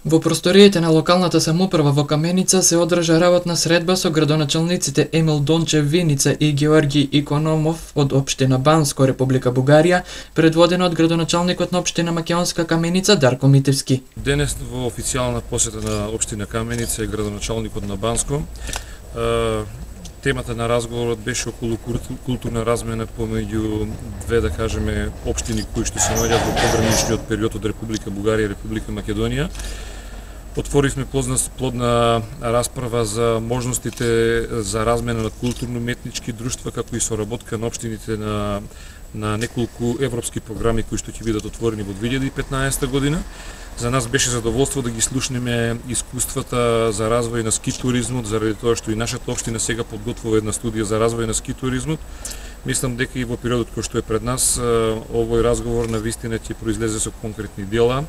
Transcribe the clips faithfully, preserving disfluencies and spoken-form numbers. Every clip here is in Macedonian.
Во просториите на локалната самоуправа во Каменица се одржа работна средба со градоначалниците Емил Дончев Виница и Георги Икономов од општина Банско, Република Бугарија, предводена од градоначалникот на општина Македонска Каменица Дарко Митевски. Денес во официјална посета на општина Каменица и градоначалникот на Банско, темата на разговорот беше околу културна размена помеѓу две, да кажеме, општини кои што се наоѓаат во пограничниот период од Република Бугарија и Република Македонија. Отворивме плодна, плодна расправа за можностите за размена на културно-метнички друштва, како и соработка на општините на, на неколку европски програми кои што ќе бидат отворени во две илјади и петнаесета година. За нас беше задоволство да ги слушнеме искуствата за развој на ски туризмот, заради тоа што и нашата општина сега подготвува една студија за развој на ски туризмот. Мислам дека и во периодот кој што е пред нас, овој разговор на вистина ќе произлезе со конкретни дела,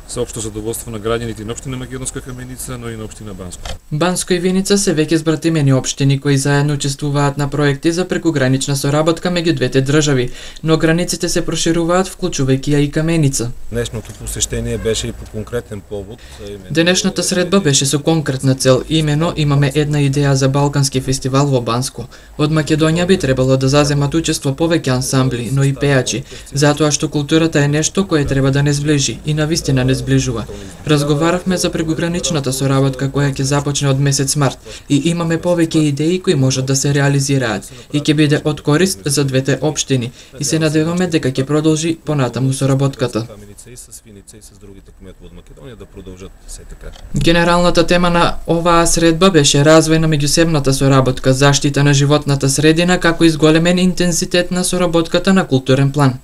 за општо задоволство на граѓаните на општина Македонска Каменица, но и на општина Банско. Банско и Виница се веќе збратимени општини кои заедно учествуваат на проекти за прекугранична соработка меѓу двете држави, но границите се прошируваат, вклучувајќи ја и Каменица. Днешното посештение беше и по конкретен повод. Денешната средба беше со конкретна цел, имено имаме една идеја за балкански фестивал во Банско. Од Македонија би требало да заземат учество повеќе ансамбли, но и пејачи, затоа што културата е нешто кое треба да не зближи и навистина не зближува. Разговаравме за прекуграничната соработка која ќе започне од месец март и имаме повеќе идеи кои можат да се реализираат и ќе биде од корист за двете општини и се надеваме дека ќе продолжи понатаму соработката. Генералната тема на оваа средба беше развој на меѓусебната соработка, заштита на животната средина, како и зголемен интензитет на соработката на културен план.